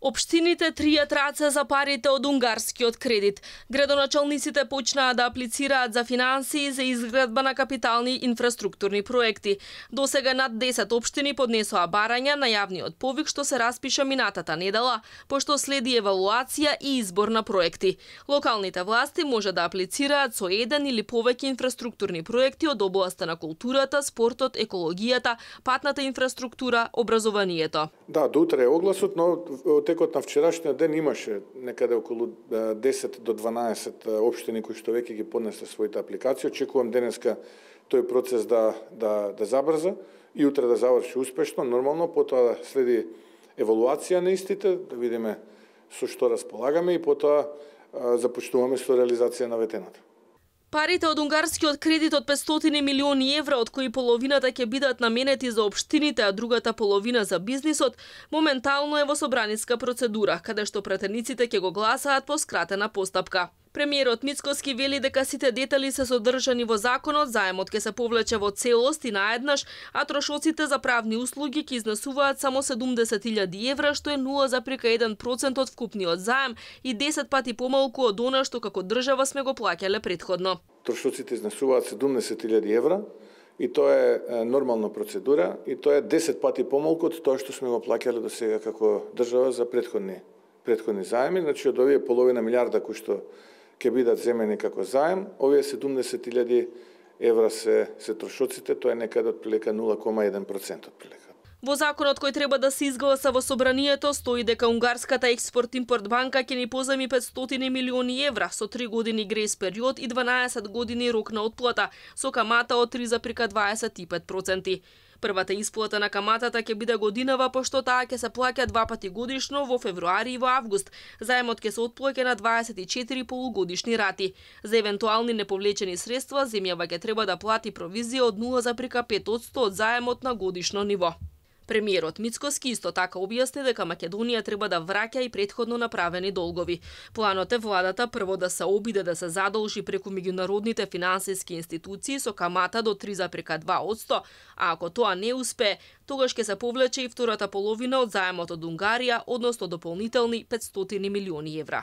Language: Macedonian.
Општините тријат раце за парите од унгарскиот кредит. Градоначалниците почнаа да аплицираат за финансии за изградба на капитални инфраструктурни проекти. Досега над 10 општини поднесоа барања на јавниот повик што се распиша минатата недела, пошто следи евалуација и избор на проекти. Локалните власти може да аплицираат со еден или повеќе инфраструктурни проекти од областа на културата, спортот, екологијата, патната инфраструктура, образованието. Да, до утре е огласот, но текот на вчерашниот ден имаше некаде околу 10 до 12 општини кои што веќе ги поднесле своите апликации. Очекувам денеска тој процес да забрза и утре да заврши успешно, нормално, потоа следи евалуација на истите, да видиме со што располагаме и потоа започнуваме со реализација на ветената. Парите од унгарскиот кредит од 500 милиони евра, од кои половината ќе бидат наменети за општините, а другата половина за бизнисот, моментално е во собраниска процедура, каде што претениците ќе го гласаат по скратена постапка. Премиерот Мицкоски вели дека сите детали се содржани во законот, заемот ќе се повлече во целост и наеднаш, а трошоците за правни услуги ќе изнесуваат само 70.000 евра, што е 0,1% од вкупниот заем и 10 пати помалку од она што како држава сме го плаќале претходно. Трошоците изнесуваат 70.000 евра и тоа е нормална процедура и тоа е 10 пати помалку од тоа што сме го плаќале до сега како држава за претходни заеми, значи од овие половина милиарда кои што ќе бидат земени како заем, овие 70.000 евра се трошоците, тоа е некаде од прилика 0,1% од прилика. Во законот кој треба да се изгласа во собранието стои дека унгарската експорт-импорт банка ќе ни позајми 500 милиони евра со 3 години грейс период и 12 години рок на отплата со камата од 3,25%. Првата исплата на каматата ќе биде годинава, пошто таа ќе се плаќа 2 пати годишно во февруари и во август. Заемот ќе се отплаќа на 24 полугодишни рати. За евентуални неповлечени средства, земјава ќе треба да плати провизија од 0,5% од заемот на годишно ниво. Премиерот Мицкоски исто така објасни дека Македонија треба да враќа и претходно направени долгови. Планот е владата прво да се обиде да се задолжи преку меѓународните финансиски институции со камата до 3,2%, а ако тоа не успее, тогаш ќе се повлече и втората половина од заемот од Унгарија, односно дополнителни 500 милиони евра.